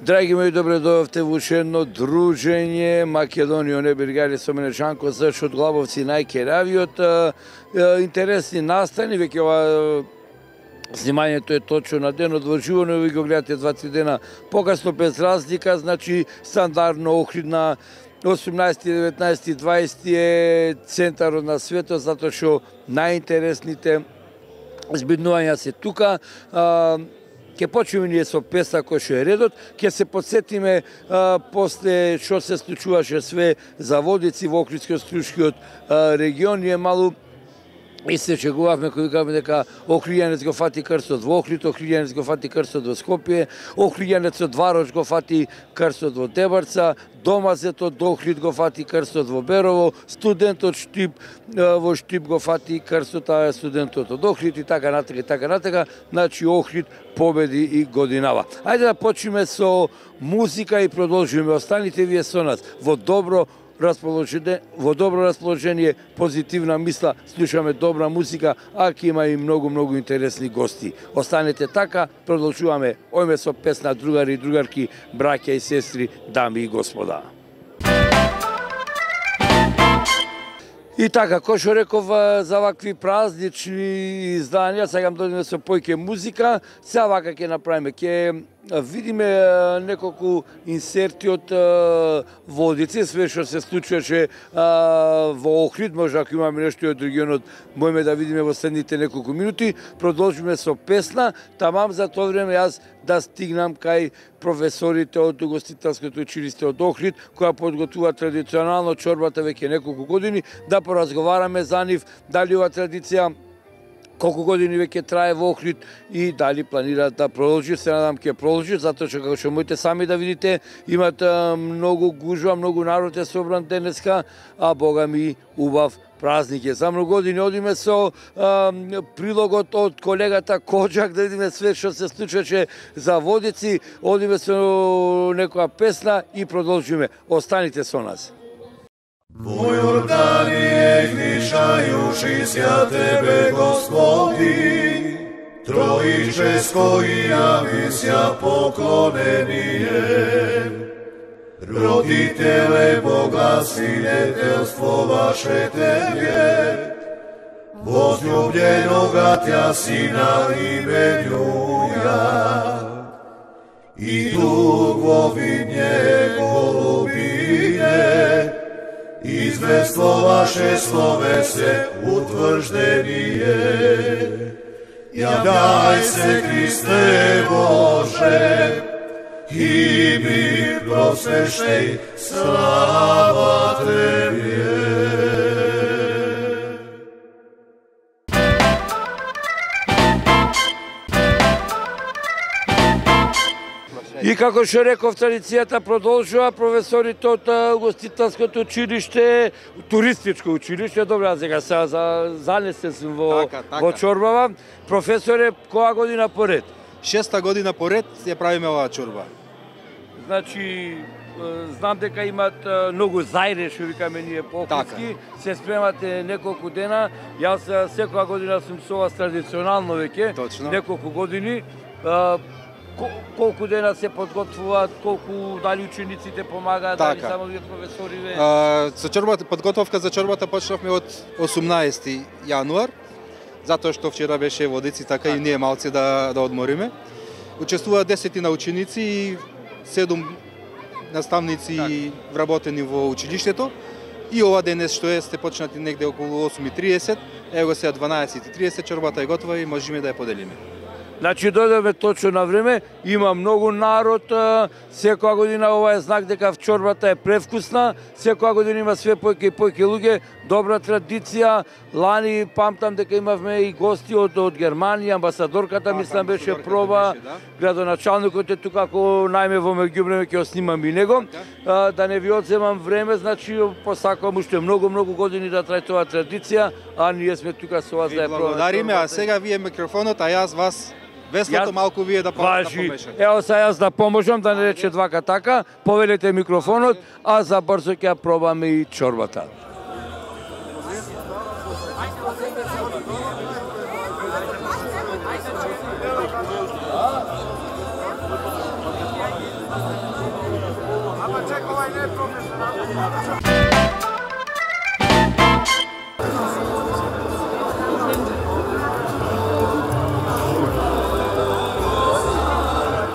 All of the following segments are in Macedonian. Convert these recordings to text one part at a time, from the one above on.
Драги мои, добре дојдовте во уште едно дружење Македонија не Бергари со мене Жанко Зрч од Глабовци најкеравиот. Интересни настани, веќе ова снимањето е точно на денот во живо, но ви го гледате 2-3 дена покасно без разлика, значи стандардно Охрид 18, 19, 20 е центарот на светот, затоа што најинтересните збиднувања се тука. Ке почнеме ние со песна кој што е редот, ке се подсетиме после што се случуваше све за водици во Охридско-Струшкиот регион. Ние малу и се шегувавме кој викавме дека Охриѓанец го фати крстот во Охрид, Охриѓанец го фати крстот во Скопје, Охриѓанец од Варош го фати крстот во Дебарца, домазетот до Охрид го фати крстот во Берово, студентот Штип во Штип го фати крстот, а студентот од Охрид и така натака и така натака. Значи Охрид победи и годинава. Ајде да почнеме со музика и продолжиме. Останите вие со нас во добро расположение, позитивна мисла, слушаме добра музика, а ќе има и многу интересни гости. Останете така, продолжуваме ојме со песна другари и другарки, браќа и сестри, дами и господа. И така, кој што реков за вакви празнични изданија, сега дојдеме со појќе музика, сега вака ќе направиме, ќе видиме неколку инсерти од водици, све што се случуваше во Охрид, може ако имаме нешто од регионот, можеме да видиме во следните неколку минути. Продолжиме со песна, тамам за тоа време јас да стигнам кај професорите од Угостителското училиште од Охрид, која подготвува традиционално чорбата веќе неколку години, да поразговараме за нив, дали ова традиција колку години веќе трае во Охрид и дали планираат да продолжи. Се надам ќе продолжи, затоа што како што можете сами да видите, имат многу гужва, многу народ е собран денеска, а бога ми убав празник е. За многу години одиме со прилогот од колегата Коџак, да видиме све што се случваше за водици, одиме со некоја песна и продолжиме. Останите со нас. Во Јорданија гришајуши ся Тебе, Господи, Троическо и јави ся поклонение. Родителе Бога, свидетелство ваше Тебе, возлюбленога Тја Сина именуја, и тук во видње голубине, извествуваше словесе утврждение. Јавјај се, Христе Боже, и ми просвещај, слава Тебе. И како што реков, традицијата продолжува. Професорите од Угостителското училиште, туристичко училиште, добро, аз сега занесен сум во чорбава. Професоре, која година поред? 6-та година поред ја правиме оваа чорба. Значи, знам дека имат многу зајре, што викаме ние по-охридски, се спремате неколку дена. Јас секоја година сум со вас традиционално веќе, неколку години. Колку дена се подготвуваат, колку дали учениците помагаат, дали само вие професориве? Со чорбата, подготовка за чорбата почнавме од 18 јануар, затоа што вчера беше водици, така и ние малце да одмориме. Учествуваат 10 на ученици и 7 наставници вработени во училиштето. И ова денес што е, сте почнати негде околу 8:30, его сега 12:30, чорбата е готова и можеме да ја поделиме. Значи, дојдеме точно на време, има многу народ, секоја година ова е знак дека чорбата е превкусна, секоја година има све појќе и појќе луѓе, добра традиција. Лани памтам дека имавме и гости од Германија, амбасадорката мислам беше проба, градоначалникот е тука, ако најме во меѓувреме ќе снимам и него. Да не ви одземам време, значи посакувам уште многу години да трае тоа традиција, а ние сме тука со вас да ја пробаме. Благодариме, а сега вие микрофонот, а јас вас веслото малку вие да помешате. Ево сега јас да поможам, да не рече двака така, повелете микрофонот, а за брзо ќе ја пробаме и чорбата.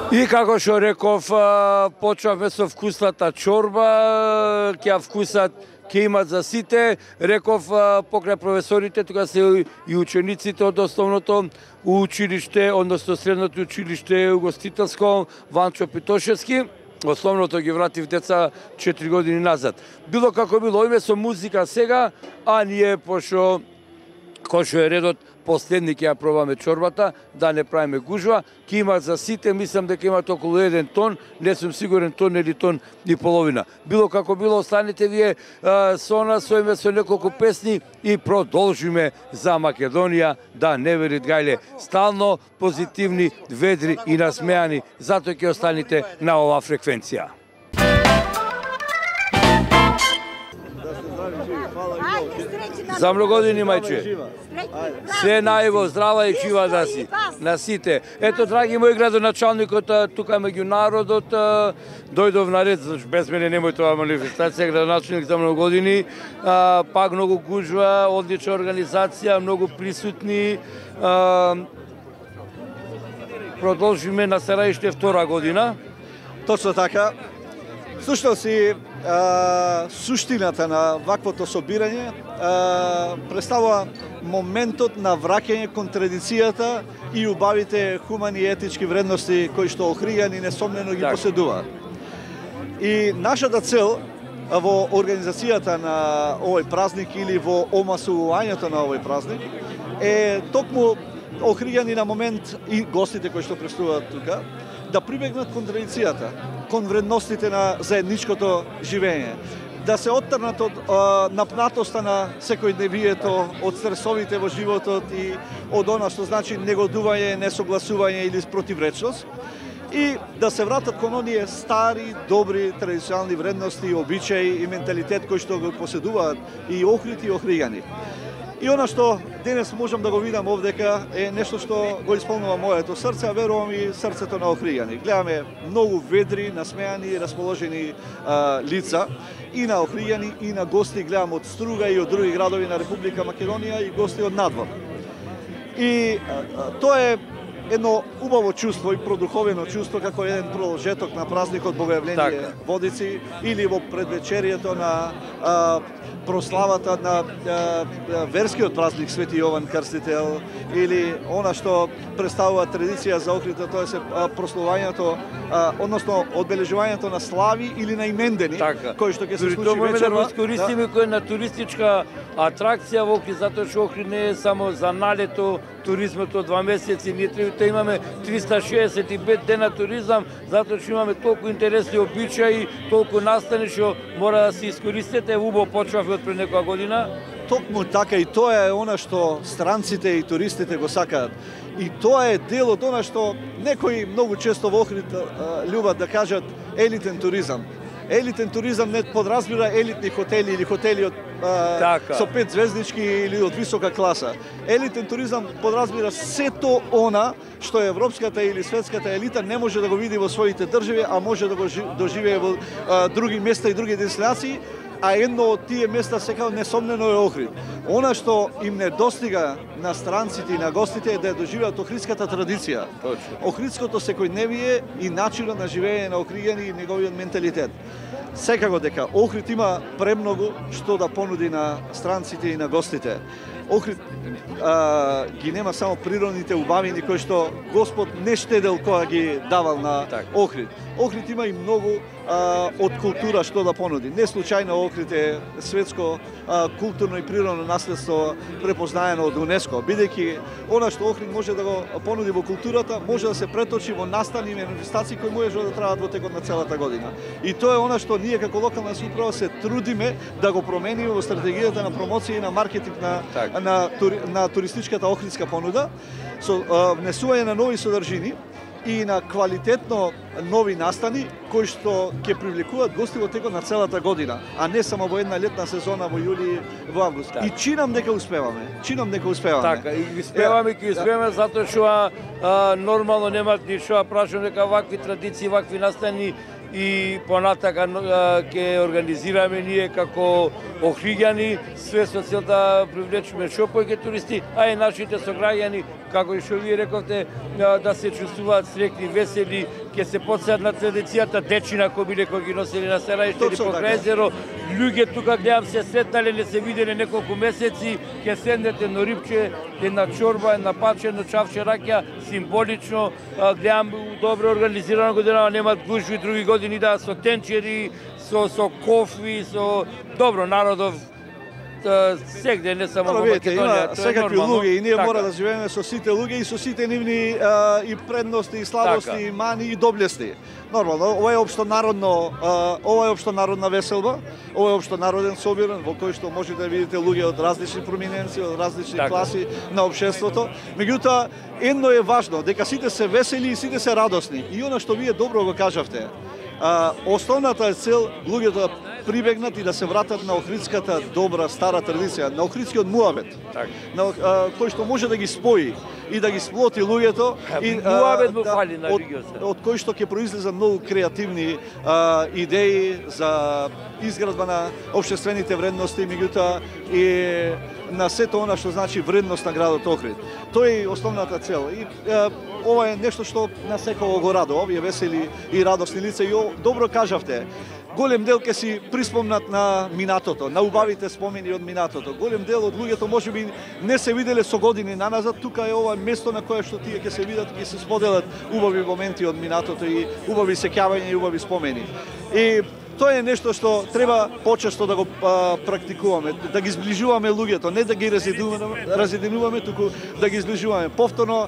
И како што реков, почнавме со вкусната чорба, ќе вкусат, ќе имат за сите. Реков покрај професорите, тука се и учениците од основното училиште, односно средното училиште угостителско Ванчо Питошевски. Основното ги вратив деца 4 години назад. Било како било, име со музика сега, а ние пошо кој што е редот, последни ќе ја пробаме чорбата, да не правиме гужва. Ќе има за сите, мислам дека имат околу 1 тон, не сум сигурен тон или тон и половина. Било како било, останете вие со нас, со име со неколку песни и продолжиме за Македонија, да не верит гајле. Стално позитивни, ведри и насмеани, затоа ќе останете на оваа фреквенција. За многу години, мајче. Се најво, здрава и жива да си. На сите. Ето, драги мој градоначалникот, тука меѓу народот, дојдов на ред, без мене немој тоа манифестација, градоначалник за многу години, пак многу гужва, одлична организација, многу присутни. Продолжиме на Сараиште 2 година. Точно така. Всушност и суштината на ваквото собирање представува моментот на враќање кон традицијата и убавите хумани и етички вредности кои што Охриѓани несомнено ги поседуваат. И нашата цел во организацијата на овој празник или во омасувањето на овој празник е токму Охриѓани на момент и гостите кои што присуствуваат тука да прибегнат кон традицијата, кон вредностите на заедничкото живење, да се оттрнат од напнатоста на секојдневието, од стресовите во животот и од она што значи негодување, несогласување или спротивречност, и да се вратат кон оние стари, добри, традиционални вредности, обичаи и менталитет кои што го поседуваат и Охрид и Охриѓани. И она што денес можам да го видам овдека е нешто што го исполнува моето срце, а верувам и срцето на Охриѓани. Гледаме многу ведри, насмеани, расположени лица и на Охриѓани и на гости, гледам од Струга и од други градови на Република Македонија и гости од надвор. И тоа е едно убаво чувство и продуховено чувство како еден продолжеток на празникот Богојавление Водици или во предвечерието на прославата на верскиот празник Свети Јован Крстител или она што представува традиција за Охрид, тоа е прославувањето, односно одбележувањето на слави или на имендени, кои што ќе се случи вечерва. Да користиме кој на туристичка атракција во Охрид, затоа што Охрид не е само за налето, туризмот од 2 месеци, ние треба да имаме 365 дена туризам, затоа што имаме толку интересни обичаи, толку настани што мора да се искористите. Убаво почнавме од пред некоја година. Токму така, и тоа е она што странците и туристите го сакаат. И тоа е дел од она што некои многу често во Охрид љубат да кажат елитен туризам. Елитен туризам не подразбира елитни хотели или хотели од со 5 звездички или од висока класа. Елитен туризам подразбира сето она што европската или светската елита не може да го види во своите држави, а може да го доживее во други места и други дестинации, а едно од тие места секако несомнено е Охрид. Она што им не достига на странците и на гостите е да доживеат охридската традиција. Охридското секојдневие и начинот на живење на Охриѓани и неговиот менталитет. Секако дека Охрид има премногу што да понуди на странците и на гостите. Охрид ги нема само природните убавини кои што Господ не штедел кога ги давал на Охрид. Охрид има и многу од култура што да понуди. Не случајно Охрид е светско културно и природно наследство препознаено од УНЕСКО, бидејќи она што Охрид може да го понуди во културата, може да се преточи во настани и манифестации кои може да траат во текот на целата година. И тоа е она што ние како локална самоуправа се трудиме да го промениме во стратегијата на промоција и на маркетинг на туристичката охридска понуда, со внесување на нови содржини и на квалитетно нови настани кои што ќе привлекуваат гости во текот на целата година, а не само во една летна сезона во јули и во август. И чинам дека успеваме. Така, и успеваме затоа што нормално немат ни што прашам дека вакви традиции, вакви настани и понатака ќе организираме ние како Охриѓани, све со цел да привлечеме што повеќе туристи, а и нашите сограѓани, како и што вие рековте, да се чувствуваат среќни, весели, ќе се подсеат на традицијата дечина кои биле кои ги носели на Сарајште или покрај езеро. Луѓе тука гледам се сретнале, не се виделе неколку месеци, ќе седнете на рибче, една чорба, една паче, едно чавче раќа, символично, гледам добро организирано година, немат гужви други години да со тенчери, со кофи, со добро народов сегде, не само во Македонија, има секакви луѓе и ние мора да живееме со сите луѓе и со сите нивни и предности, и слабости, и мани, и доблести. Нормално, ова е општонародна веселба, ова е општонароден собиран во кој што можете да видите луѓе од различни проминенции, од различни класи на општеството. Меѓутоа, едно е важно, дека сите се весели и сите се радосни. И она што вие добро го кажавте, основната е цел луѓето да прибегнат и да се вратат на охридската добра стара традиција, на охридскиот муабет, кој што може да ги спои и да ги сплоти луѓето и муабет му фали на религијата. Од кој што ќе произлезат многу креативни идеи за изградба на општествените вредности, меѓутоа и на сето она што значи вредност на градот Охрид. Тој е основната цел. И ова е нешто што на секој го радува, овие весели и радосни лица. И добро кажавте, голем дел ќе си приспомнат на минатото, на убавите спомени од минатото. Голем дел од луѓето можеби не се виделе со години наназад, тука е ова место на кое што тие ќе се видат и ќе се споделат убави моменти од минатото и убави сеќавања и убави спомени. И тоа е нешто што треба почесто да го практикуваме, да ги зближуваме луѓето, не да ги разединуваме, туку да ги зближуваме. Повторно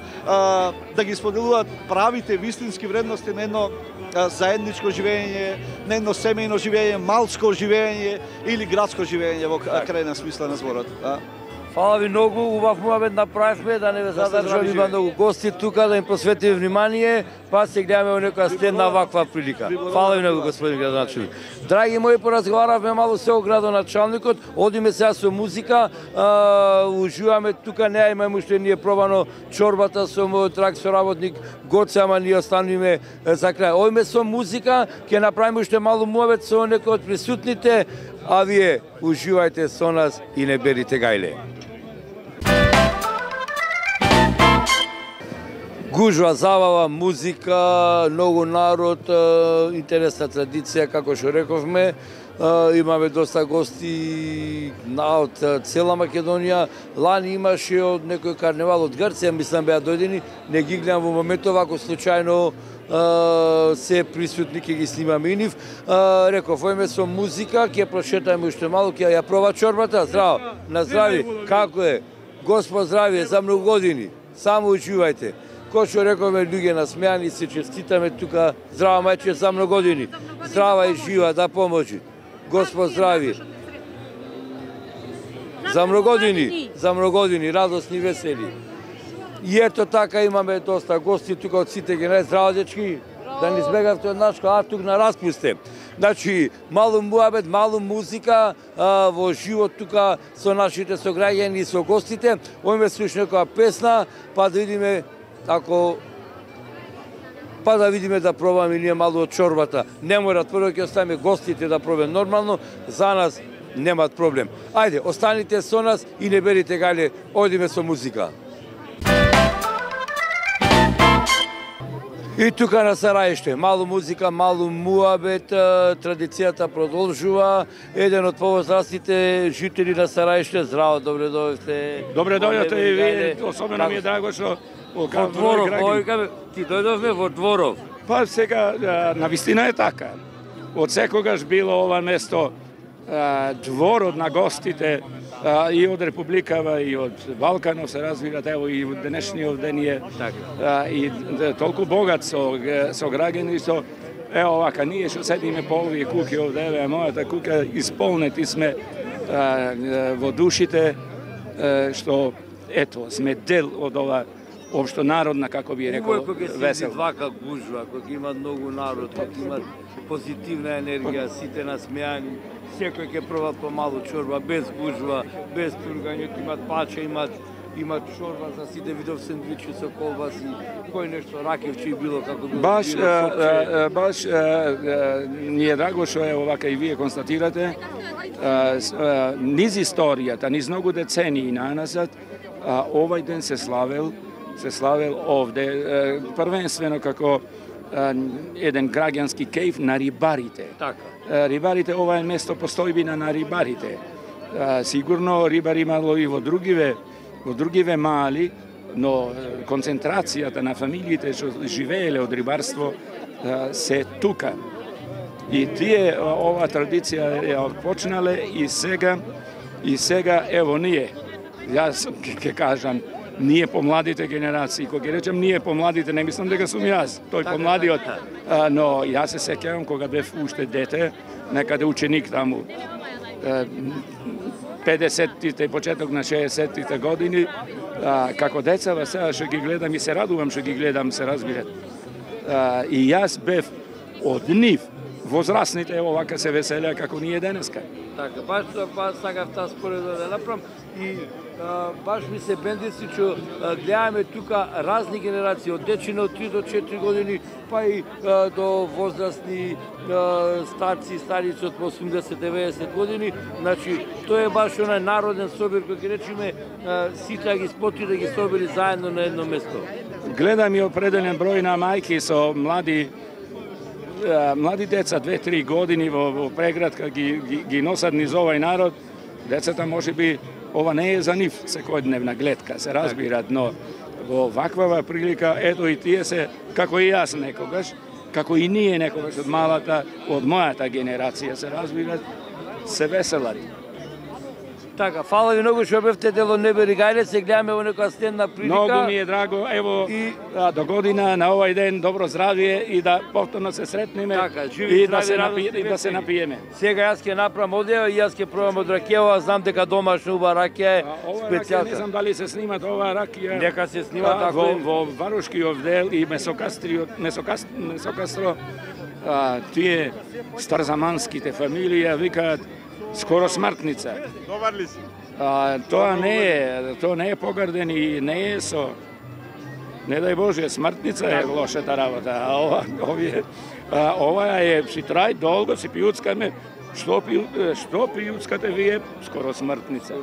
да ги споделуваат правите вистински вредности на едно заедничко живење, на едно семејно живење, малско живење или градско живење во крајна смисла на зборот. Фала ви многу, убав муабет направивме, да не ве задржам, има многу гости тука, да им посветиме внимание, па се гледаме во некоја следна ваква прилика. Фала ви многу, господин градоначелник. Драги мои, поразговаравме малку со градоначалникот, одиме сега со музика, уживаме тука, не имаме уште ние пробано чорбата со мојот драг соработник Гоце, ама ние остануваме за крај. Одиме со музика, ќе направиме уште малку муабет со некој од присутните, а вие уживајте со нас и не берите гајле. Гужва, забава, музика, многу народ, интересна традиција, како што рековме. Имаме доста гости од цела Македонија. Лани имаше од некој карневал од Грција, мислам беа дојдени, не ги гледам во моментов, ако случајно се присутни, ќе ги снимаме и нив. Реков, ојме со музика, ќе прошетаме уште малку, ќе ја проба чорбата. Здраво, на здрави, како е? Господ здравие, за многу години, само учувајте. Кој што рековме, луѓе насмејани, се честитаме тука. Здрава мајче, за многу години. Здрава и жива, да поможи. Господ здрави. За многу години, радосни, весели. И ето така имаме доста гости тука од сите генерации. Здраво, дечки, да не избегавте од нашко, тук на распусте. Значи, малу муабет, малу музика во живот тука со нашите сограѓани и со гостите. Ојме слушаме некоја песна, па да видиме да пробаме ние малу од чорбата. Не мора, прво ќе оставиме гостите да пробаме нормално, за нас немат проблем. Ајде, останите со нас и не берите гајле, одиме со музика. И тука на Сарајште, малу музика, малу муабет, традицијата продолжува. Еден од повозрастните жители на Сарајште, здраво, добре дојдовте. Добре дојдовте и вие, особено ми е драго што во Дворов, ти дојдовме во Дворов. Па сега, навистина е така. Од секогаш било ова место дворот на гостите и од Републикава и од Балканов се развиват, ево и од денешниот ден е и толку богат со граѓани, со ево вака, ние што седиме по овие куќи овде, еве мојата куќа, исполнети сме во душите, што ето, сме дел од ова општонародна, како би рекол, весел. Вака гужва, кога има многу народ, кога има позитивна енергија, сите насмејани, секој ќе проба помалу чорба, без гужва, без тургање, имат паче, имат чорба за сите, видов сендвичи со колбаси, кој нешто ракевче и било како било. Баш ни е драго што е овака и вие констатирате, низ историјата, низ многу децении наназад, овај ден се славел овде, првенствено како еден граѓански кејф на рибарите. Така. Рибарите, ова е место постојбина на рибарите. Сигурно рибари имало и во другиве мали, но концентрацијата на фамилиите што живееле од рибарство се тука. И тие ова традиција ја почнале и сега ево ние. Јас ќе кажам, ние помладите генерации, кога ќе речем ние помладите, не мислам дека сум јас, тој помладиот, но јас се сеќавам кога бев уште дете, некаде ученик таму, 50-тите, почеток на 60-тите години, како децава сега што ги гледам и се радувам што ги гледам, се разбират. И јас бев од нив, возрастните овака се веселеа како ние денеска. Така, баш сакав таа споредба да направам и баш ми се бендици што гледаме тука разни генерации, од дечина од 3 до 4 години, па и до возрастни старци, старици од 80-90 години. Значи, тоа е баш онај народен собир, кој ќе речеме, сите ги споти да ги собери заедно на едно место. Гледам и определен број на мајки со млади деца, 2-3 години во преградка ги носат низ овај народ. Децата можеби ова не е за нив секојдневна гледка, се разбират, но во ваква прилика, ето и тие се, како и јас некогаш, како и ние некогаш од мојата генерација, се разбират, се веселат. Така, фала ви многу што бевте дел од Небе Ригајле, се гледаме во некоја стенна прилика. Многу ми е драго, ево, до година на овај ден добро здравие и да повторно се сретнеме и да се напиеме. Сега јас ќе направам одева и јас ќе пробам од ракија, знам дека домашна уба ракија е специјалка. Не знам дали се снима ова ракија. Нека се снима така. Во Варушкиот дел и Месокастро, тие старзаманските фамилија викаат скоро смртница. Добар ли си? Тоа не е погарден и не е со, не дај Боже, смртница е лошата работа. Ова е, си трај долго, си пиуцкаме, што пиуцкате вие, скоро смртница.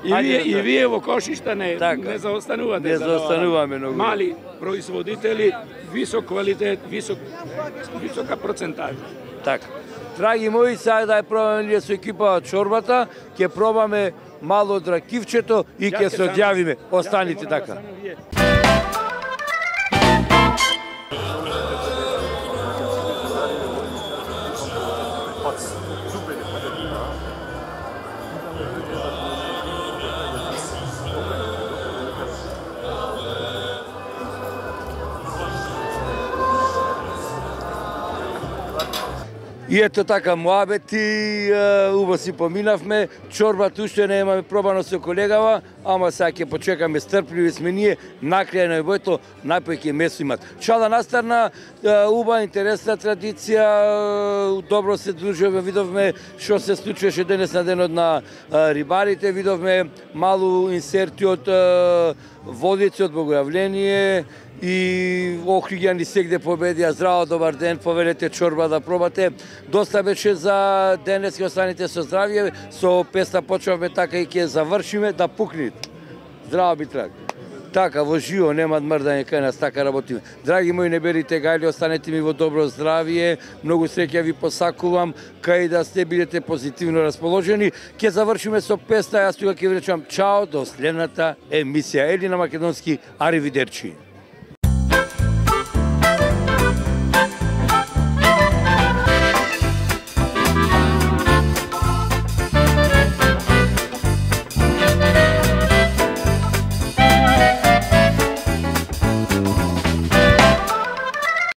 И вие во Кошишта не заостанувате. Не заостануваме многу. Мали производители, висок квалитет, висока процентажа. Така. Драги мои, сега да ја пробаме ние со екипа чорбата, ќе пробаме мало од ракивчето и ќе се одјавиме. Останите така. И ето така, муабети, убаво си поминавме, чорбата уште не имаме пробано со колегава, ама сега ќе почекаме, стрпливи сме ние, накрај на бојто, најпој ќе месо имат. Чала настарна, уба, интересна традиција, добро се дружиме, видовме што се случуваше денес на денот на рибарите, видовме малу инсерти од водици, од богојавление, и Охриѓани сегде победија. Здраво, добар ден, повелете чорба да пробате. Доста беше за денес, ќе останете со здравје, со песна почнавме така и ќе завршиме, да пукнит. Здраво би трак. Така, во живо, нема мрдање кај нас, така работиме. Драги мои Небе Ригајле, останете ми во добро здравје, многу среќа ви посакувам, кај да сте бидете позитивно расположени. Ќе завршиме со песна, јас тука ќе ви речам чао до следната емисија. Ели на македонски, аривидерчи.